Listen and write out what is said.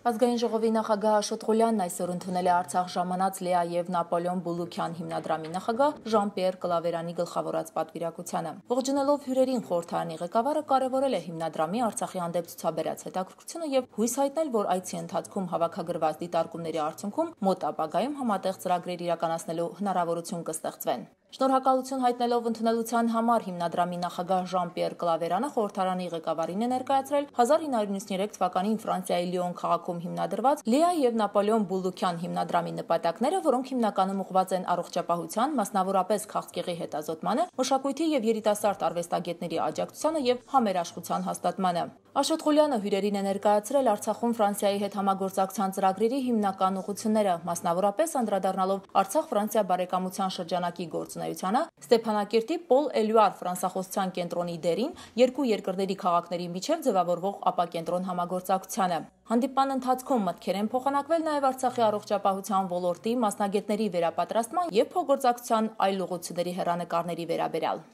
Ազգային ժողովի նախագահ Աշոտ Ղուլյանն այսօր ընդունել է Արցախ ժամանած Լեա եւ Նապոլեոն Բուլուքյան հիմնադրամի նախագահ Ժան-Պիեր Կլավերանի գլխավորած պատվիրակությանը։ Ողջունելով հյուրերին խորհրդարանի ղեկավարը կարևորել է հիմնադրամի Արցախի հանդեպ ցուցաբերած հետաքրքրությունը եւ հույս հայտնել, որ այցի ընթացքում հավաքագրված դիտարկումների արդյունքում մոտ ապագայում համատեղ ծրագրեր իրականացնելու հնարավորություն կստեղծվեն։ Շնորհակալություն հայտնելով ընդունելության համար հիմնադրամի նախագահ Ժան-Պիեր Կլավերանը խորհրդարանի ղեկավարին է ներկայացրել 1993 թվականին Ֆրանսիայի Լիոն քաղաքում հիմնադրված Լեա եւ Նապոլեոն Բուլուքյան հիմնադրամի նպատակները, որոնք հիմնականում ուղղված են առողջապահության, մասնավորապես քաղցկեղի հետազոտմանը, մշակույթի եւ երիտասարդ արվեստագետների աջակցությանը եւ համերաշխության հաստատմանը։ Աշոտ Ղուլյանը հյուրերին է ներկայացրել Արցախում Ֆրանսիայի հետ համագործակցության ծրագրերի հիմնական ուղղությունները, մասնավորապես անդրադառնալով Արցախ-Ֆրանսիա բարեկամության շրջանակի գործունեությանը, Ստեփանակերտի Պոլ Էլյուար ֆրանսախոսության կենտրոնի դերին, երկու երկրների քաղաքների միջև ձևավորվող ապակենտրոն համագործակցությանը։ Հանդիպման ընթացքում մտքեր են փոխանակվել նաև Արցախի առողջապահության ոլորտի մասնագետների վերապատրաստման եւ փոխգործակցության այլ ուղղությունների հեռանկարների վերաբերյալ։